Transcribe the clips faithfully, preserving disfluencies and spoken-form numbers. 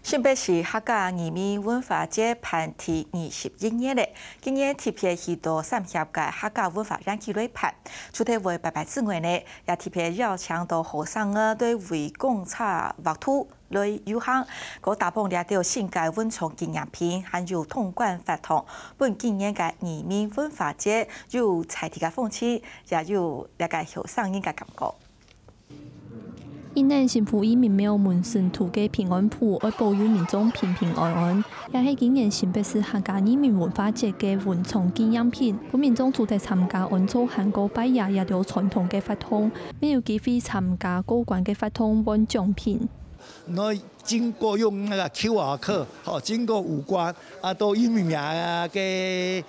新北市客家移民文化節辦第二十一年了，今年特別去到三峽个客家文化園區來辦。除忒會拜拜之外呢，也特別邀請到學生仔對圍公車畫圖來遊行，過打包這兜新个文創紀念品，還有通關活動，分今年个移民文化節有在地个風情，也有這个後生人个感覺。 今年新埔義民廟門神土个平安符愛保佑民眾平平安安，也係今年新北市客家移民文化節个文創紀念品。分民眾除忒參加安灶還過拜爺這兜傳統个活動，乜有機會參加過關个活動換獎品。 你經過用那個QR code，吼，經過五關，啊，到義民廟个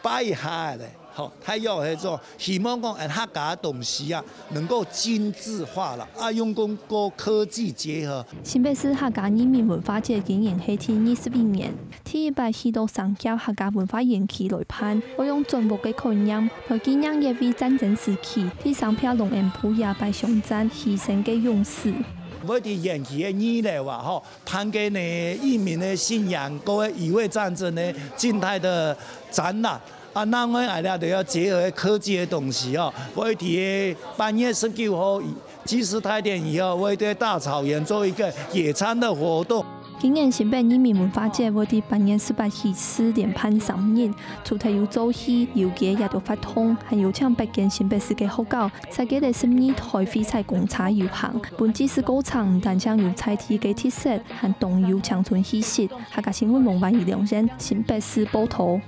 拜一下咧，吼，大約係做，希望講，呃，客家个東西啊，能夠精緻化了，啊，用跟科技結合。新北市客家移民文化節今年係第二十一年，第一擺去到三峽客家文化園區來辦，愛用轉屋个概念，來紀念一位戰爭時期在三峽龍恩埔野擺巷戰犧牲个勇士。 會在園區个二樓啊，吼，辦个呢，義民个信仰，各位乙未戰爭呢，靜態的展覽。啊，另外，哎呀，都要結合科技的東西哦。會在八月十九號，祭祀大典以後，會在大草原做一個野餐的活動。今年新北義民文化節會在八月十八起始連辦三日，除忒有做戲、遊街這兜活動，還有請八間新北市个學校， 設計了十二台廢柴公車遊行，分祭祀過程毋單淨有在地个特色，還當有青春氣息。客家新聞王萬怡、梁燕，新北市報導。